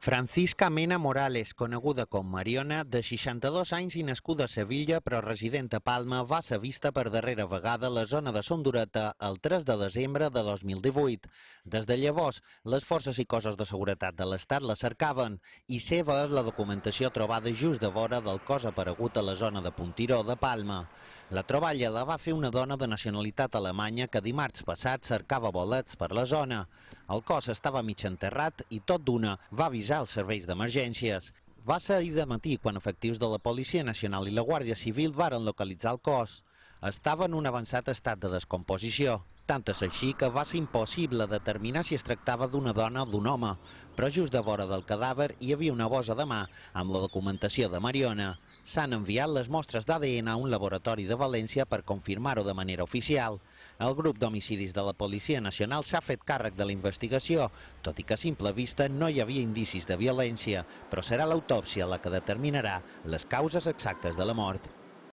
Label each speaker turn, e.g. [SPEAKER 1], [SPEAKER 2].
[SPEAKER 1] Francisca Mena Morales, coneguda com Mariona, de 62 anys i nascuda a Sevilla però resident a Palma, va ser vista per darrera vegada a la zona de Son Dureta el 3 de desembre de 2018. Des de llavors, les forces i cossos de seguretat de l'Estat la cercaven i seva és la documentació trobada just de vora del cos aparegut a la zona de Puntiró de Palma. La troballa la va fer una dona de nacionalitat alemanya que dimarts passat cercava bolets per la zona. El cos estava mig enterrat i tot d'una va avisar els serveis d'emergències. Va ser ahir de matí quan efectius de la Policia Nacional i la Guàrdia Civil varen localitzar el cos. Estava en un avançat estat de descomposició. Tant és així que va ser impossible determinar si es tractava d'una dona o d'un home, però just de vora del cadàver hi havia una bossa de mà amb la documentació de Mariona. S'han enviat les mostres d'ADN a un laboratori de València per confirmar-ho de manera oficial. El grup d'homicidis de la Policia Nacional s'ha fet càrrec de la investigació, tot i que a simple vista no hi havia indicis de violència, però serà l'autòpsia la que determinarà les causes exactes de la mort.